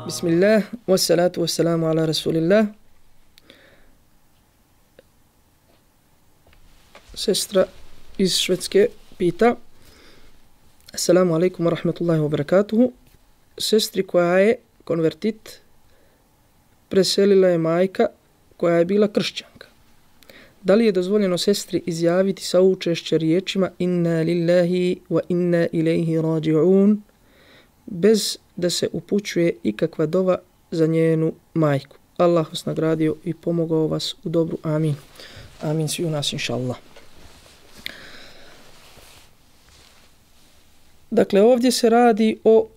Bismillah, wassalatu wassalamu ala rasulillah. Sestra iz Švedske pita: Assalamu alaikum wa rahmatullahi wa barakatuhu. Sestri koja je konvertit preselila je majka koja je bila kršćanka. Da li je dozvoljeno sestri izjaviti saučešće riječima inna lillahi wa inna ilaihi raji'un bez da se upućuje ikakva dova za njenu majku? Allah vas nagradio i pomogao vas u dobru. Amin. Amin svi u nas, inša Allah. Dakle, ovdje se radi o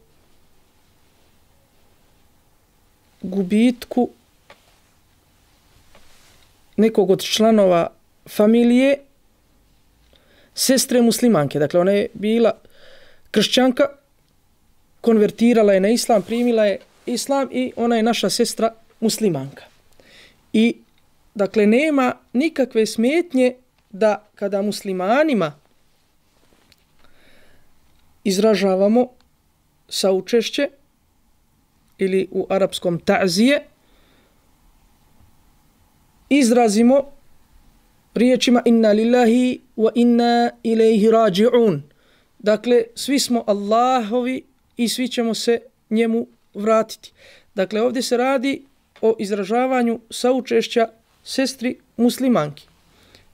gubitku nekog od članova familije sestre muslimanke. Dakle, ona je bila kršćanka, konvertirala je na islam, primila je islam i ona je naša sestra muslimanka. I, dakle, nema nikakve smetnje da kada muslimanima izražavamo saučešće ili u arapskom ta'zije, izrazimo riječima inna lillahi wa inna ilaihi raji'un. Dakle, svi smo Allahovi i svi ćemo se njemu vratiti. Dakle, ovdje se radi o izražavanju saučešća sestri muslimanki.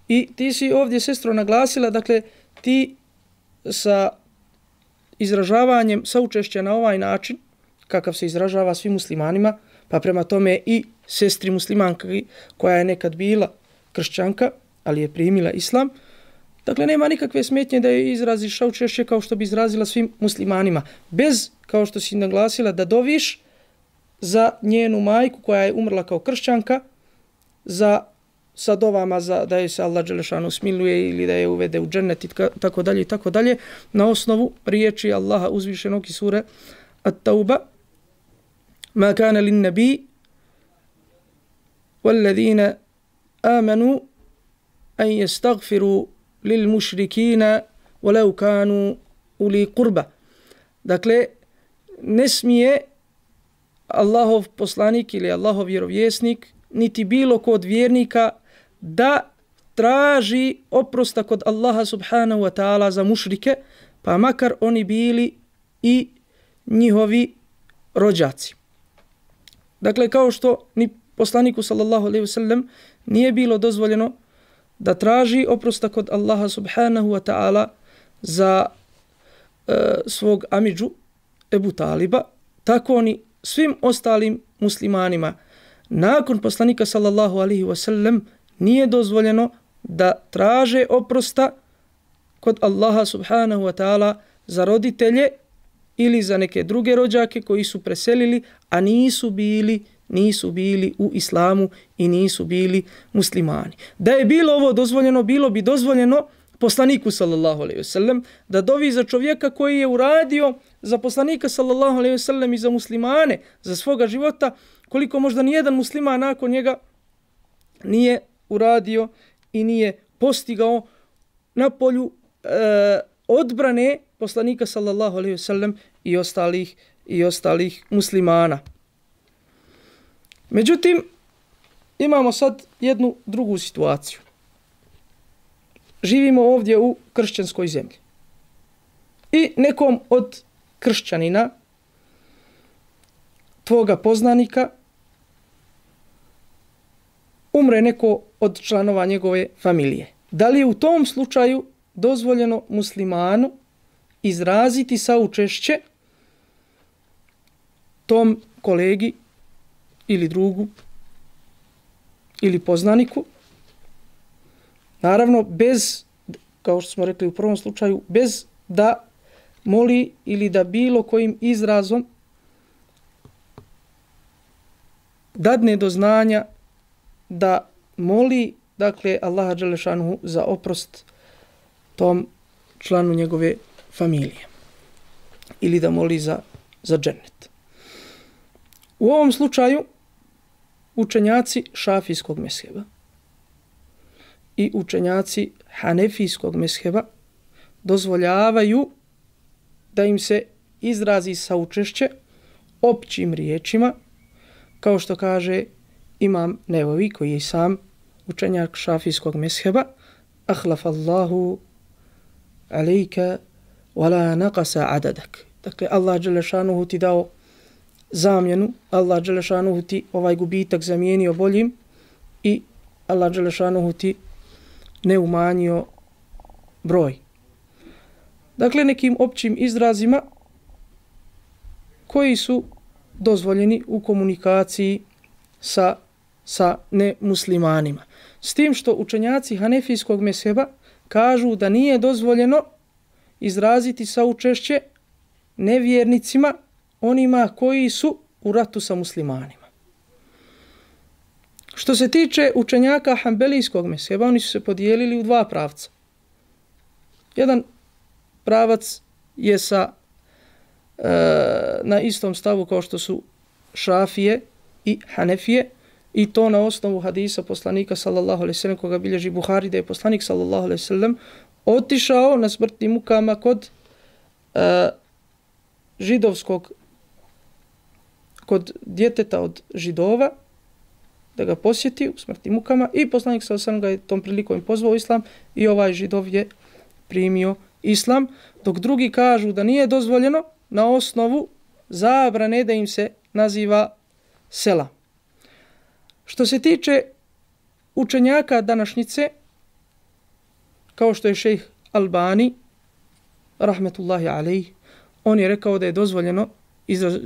I ti si ovdje, sestro, naglasila, dakle, ti sa izražavanjem saučešća na ovaj način, kakav se izražava svim muslimanima, pa prema tome i sestri muslimanki koja je nekad bila kršćanka, ali je primila islam, dakle, nema nikakve smetnje da je izraziš saučešće kao što bi izrazila svim muslimanima. Bez, kao što si naglasila, da doviš za njenu majku koja je umrla kao kršćanka, sa dovama da je se Allah dželešanu smiluje ili da je uvede u džennet i tako dalje i tako dalje, na osnovu riječi Allaha uzvišenog iz sure At-Tauba: Ma kana lin nabi wal-ladina amanu an yastaghfiru lil mushrikina walau kanu uli qurba. Dakle, ne smije Allahov poslanik ili Allahov vjerovjesnik niti bilo ko od vjernika da traži oprosta kod Allaha subhanahu wa ta'ala za mušrike, pa makar oni bili i njihovi rođaci. Dakle, kao što ni poslaniku sallallahu alejhi ve sellem nije bilo dozvoljeno da traži oprosta kod Allaha subhanahu wa ta'ala za svog amidžu Ebu Taliba, tako ni svim ostalim muslimanima nakon poslanika sallallahu alejhi ve sellem nije dozvoljeno da traže oprosta kod Allaha subhanahu wa ta'ala za roditelje ili za neke druge rođake koji su preselili, a nisu bili u islamu i nisu bili muslimani. Da je bilo ovo dozvoljeno, bilo bi dozvoljeno poslaniku sallallahu alejhi ve sellem da dovi za čovjeka koji je uradio za poslanika sallallahu alejhi ve sellem i za muslimane za svoga života koliko možda nijedan musliman nakon njega nije uradio i nije postigao na polju odbrane poslanika sallallahu alejhi ve sellem i ostalih muslimana. Međutim, imamo sad jednu drugu situaciju. Živimo ovdje u kršćanskoj zemlji. I nekom od kršćanina, tvoga poznanika, umre neko od članova njegove familije. Da li je u tom slučaju dozvoljeno muslimanu izraziti saučešće tom kolegi ili drugu ili poznaniku? Naravno, bez, kao što smo rekli u prvom slučaju, bez da moli ili da bilo kojim izrazom dadne do znanja da moli, dakle, Allaha dželešanuhu za oprost tom članu njegove familije ili da moli za džennet. U ovom slučaju učenjaci šafijskog mezheba i učenjaci hanefijskog mezheba dozvoljavaju da im se izrazi saučešće općim riječima, kao što kaže Imam Nevavi, koji je sam učenjak šafijskog mezheba, ahlafallahu alejka wala naqasa adadak. Dakle, Allah dželešanuhu ti dao zamjenu, Allah dželešanuhu ti ovaj gubitak zamijenio boljim i Allah dželešanuhu ti ne umanjio broj. Dakle, nekim općim izrazima koji su dozvoljeni u komunikaciji sa nemuslimanima. S tim što učenjaci hanefijskog mezheba kažu da nije dozvoljeno izraziti saučešće nevjernicima, onima koji su u ratu sa muslimanima. Što se tiče učenjaka hanbelijskog mezheba, oni su se podijelili u dva pravca. Jedan pravac je na istom stavu kao što su Šafije i Hanefije, i to na osnovu hadisa poslanika sallallahu alejhi ve sellem koga bilježi Buhari, da je poslanik sallallahu alejhi ve sellem otišao na smrtnim mukama kod djeteta od Židova, da ga posjeti u smrtnim mukama, i poslanik sallallahu alejhi ve sellem ga je tom prilikom pozvao u islam i ovaj Židov je primio islam, dok drugi kažu da nije dozvoljeno na osnovu zabrane da im se naziva selam. Što se tiče učenjaka današnjice, kao što je šejh Albani, rahmetullahi alejhi, on je rekao da je dozvoljeno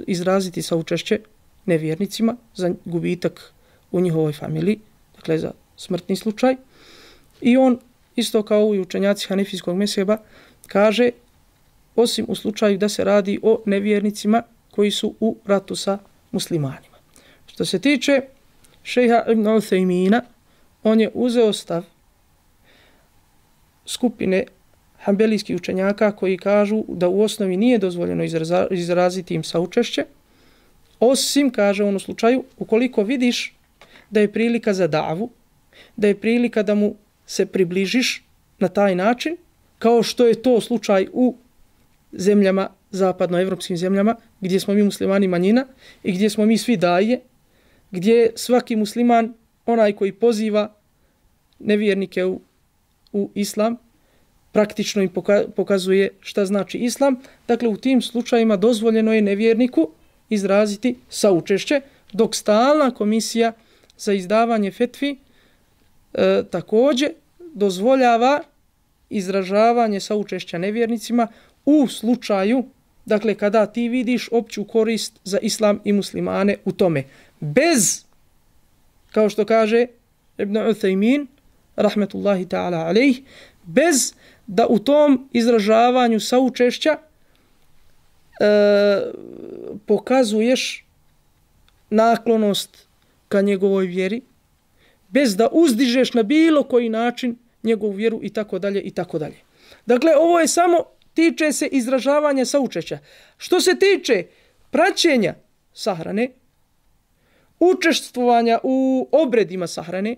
izraziti saučešće nevjernicima za gubitak u njihovoj familiji, dakle za smrtni slučaj. I on, isto kao i učenjaci hanefijskog mezheba, kaže osim u slučaju da se radi o nevjernicima koji su u ratu sa muslimanima. Što se tiče šejha Ibn Uthejmina, on je uzeo stav skupine hanbelijskih učenjaka koji kažu da u osnovi nije dozvoljeno izraziti im saučešće, osim, kaže on u slučaju, ukoliko vidiš da je prilika za davu, da je prilika da mu se približiš na taj način, kao što je to slučaj u zemljama, zapadnoevropskim zemljama, gdje smo mi muslimani manjina i gdje smo mi svi daje, gdje svaki musliman, onaj koji poziva nevjernike u islam, praktično im pokazuje šta znači islam. Dakle, u tim slučajima dozvoljeno je nevjerniku izraziti saučešće, dok stalna komisija za izdavanje fetvi također dozvoljava izražavanje saučešća nevjernicima u slučaju, dakle, kada ti vidiš opću korist za islam i muslimane u tome. Bez, kao što kaže Ibn Uthejmin, rahmetullahi ta'ala alejhi, bez da u tom izražavanju saučešća pokazuješ naklonost ka njegovoj vjeri, bez da uzdižeš na bilo koji način njegovu vjeru i tako dalje i tako dalje. Dakle, ovo je samo tiče se izražavanja saučešća. Što se tiče praćenja sahrane, učestvovanja u obredima sahrane,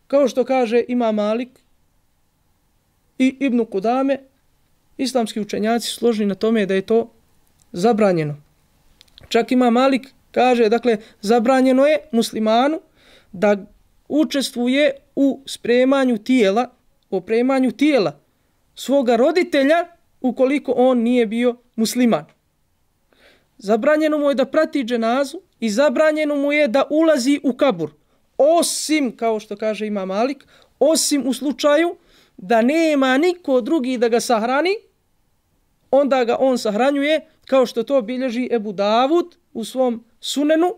kao što kaže Imam Malik i Ibn Kudame, islamski učenjaci složni na tome da je to zabranjeno. Čak Imam Malik kaže, dakle, zabranjeno je muslimanu da učestvuje u spremanju tijela, opremanju tijela svoga roditelja ukoliko on nije bio musliman. Zabranjeno mu je da prati dženazu i zabranjeno mu je da ulazi u kabur. Osim, kao što kaže Imam Malik, osim u slučaju da nema niko drugi da ga sahrani, onda ga on sahranjuje, kao što to bilježi Ebu Davud u svom sunenu,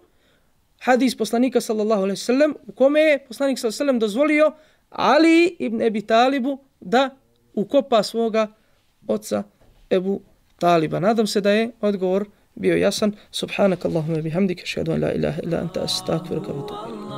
hadis poslanika sallallahu alejhi ve sellem, u kome je poslanik sallallahu alejhi ve sellem dozvolio Ali ibn Abi Talibu da ukopa svoga oca Ebu Taliba. Nadam se da je odgovor bio jasan. Subhanakallahumma bihamdika, ašhadu an la ilaha illa anta, astaghfiruka wa atubu ilayk.